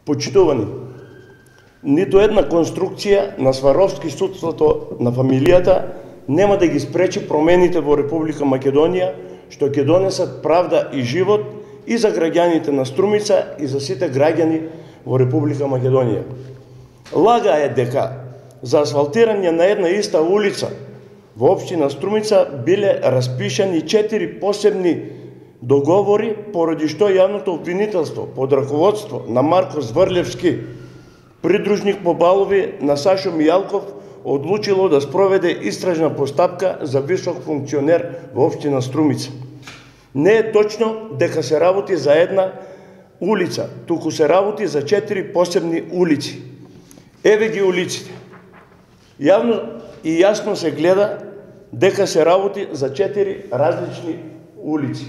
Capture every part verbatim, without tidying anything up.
Почитувани, ниту една конструкција на Сваровски судството на фамилијата нема да ги спречи промените во Република Македонија, што ќе донесат правда и живот и за граѓаните на Струмица и за сите граѓани во Република Македонија. Лага е дека за асфалтирање на една иста улица во општина Струмица биле распишани четири посебни договори, поради што јавното обвинителство под раководство на Марко Зврлевски, придружник по балови на Сашо Мијалков, одлучило да спроведе истражна постапка за висок функционер во општина Струмица. Не е точно дека се работи за една улица, туку се работи за четири посебни улици. Еве ги улиците. Јавно и јасно се гледа дека се работи за четири различни улици.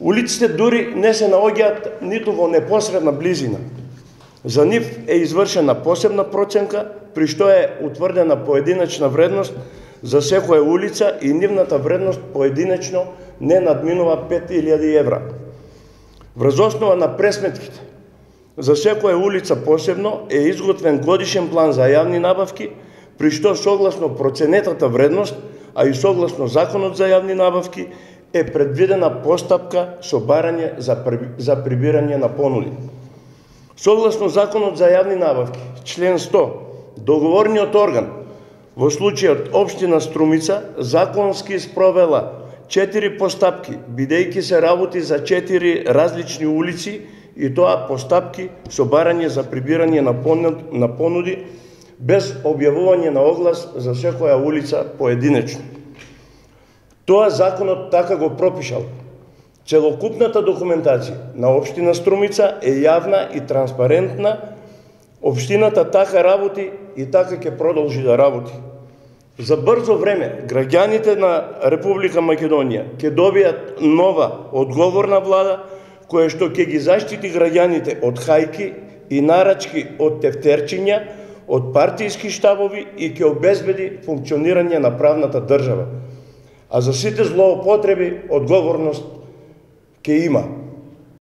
Улиците дури не се наоѓаат ниту во непосредна близина. За нив е извршена посебна проценка, при што е утврдена поединачна вредност за секоја улица и нивната вредност поединечно не надминува пет илјади евра. Врз основа на пресметките за секоја улица посебно е изготвен годишен план за јавни набавки, при што согласно проценетата вредност, а и согласно Законот за јавни набавки, е предвидена постапка со барање за, за прибирање на понуди. Согласно Законот за јавни набавки, член сто, договорниот орган, во случајот општина Струмица, законски спровела четири постапки, бидејќи се работи за четири различни улици, и тоа постапки со барање за прибирање на понуди, без објавување на оглас за секоја улица поединечно. Тоа законот така го пропишал. Целокупната документација на општина Струмица е јавна и транспарентна. Општината така работи и така ќе продолжи да работи. За брзо време граѓаните на Република Македонија ќе добијат нова одговорна влада, која што ќе ги заштити граѓаните од хајки и нарачки од тефтерчиња, од партијски штабови и ќе обезбеди функционирање на правната држава. А за сите злоупотреби одговорност ќе има.